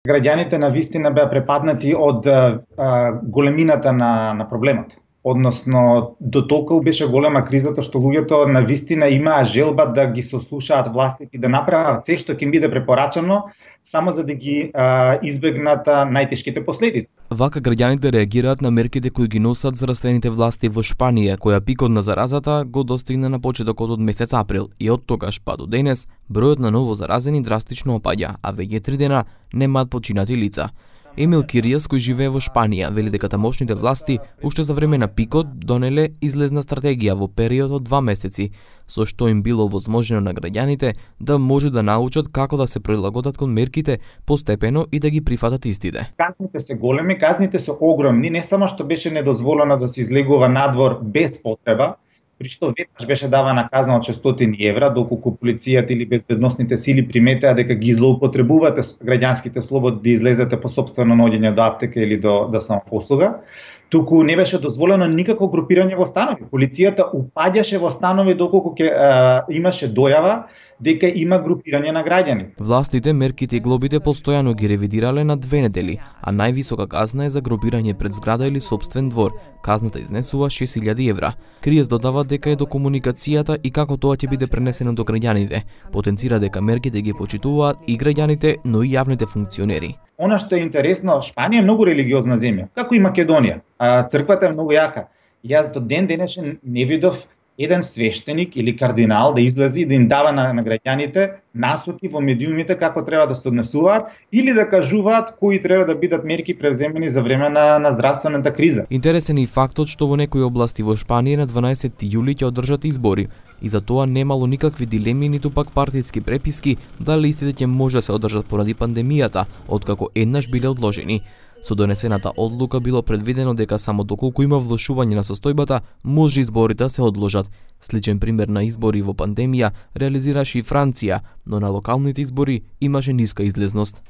Граѓаните на вистина беа препаднати од големината на проблемот. Односно, до толку беше голема кризата што луѓето на вистина имаа желба да ги сослушаат властите и да направат се што ќе им биде препорачано, само за да ги избегнат најтешките последици. Вака граѓаните реагираат на мерките кои ги носат здравствените власти во Шпанија, која пикот на заразата го достигна на почетокот од месец април и од тогаш па до денес бројот на ново заразени драстично опаѓа, а веќе 3 дена немаат починати лица. Емил Киријас, кој живее во Шпанија, вели дека тамошните власти уште за време на пикот донеле излезна стратегија во период од 2 месеци, со што им било возможно на граѓаните да може да научат како да се прилагодат кон мерките постепено и да ги прифатат истите. Казните се големи, казните се огромни, не само што беше недозволено да се излегува надвор без потреба, при што веднаш беше давана казна од 600 евра, доколку полицијата или безбедносните сили приметеа дека ги злоупотребувате граѓанските слободи да излезете по сопствено наоѓање до аптека или до самопослуга. Туку не беше дозволено никакво групирање во станови. Полицијата упаѓаше во станови доколку имаше дојава дека има групирање на граѓани. Властите мерките и глобите постојано ги ревидирале на 2 недели, а највисока казна е за групирање пред зграда или сопствен двор. Казната изнесува 6000 евра. Кријас додава дека е до комуникацијата и како тоа ќе биде пренесено до граѓаните. Потенцира дека мерките ги почитуваат и граѓаните, но и јавните функционери. Она што е интересно, Шпанија е многу религиозна земја, како и Македонија. Црквата е многу јака. Јас до ден денешен не видов еден свештеник или кардинал да излези и да им дава на граѓаните насоки во медиумите како треба да се однесуваат или да кажуваат кои треба да бидат мерки превземени за време на здравствената криза. Интересен е и фактот што во некои области во Шпанија на 12 јули ќе одржат избори и за тоа немало никакви дилеми ниту пак партиски преписки дали истите ќе може да се одржат поради пандемијата, откако еднаш биле одложени. Со донесената одлука било предвидено дека само доколку има влошување на состојбата, може изборите да се одложат. Сличен пример на избори во пандемија реализираше и Франција, но на локалните избори имаше ниска излезност.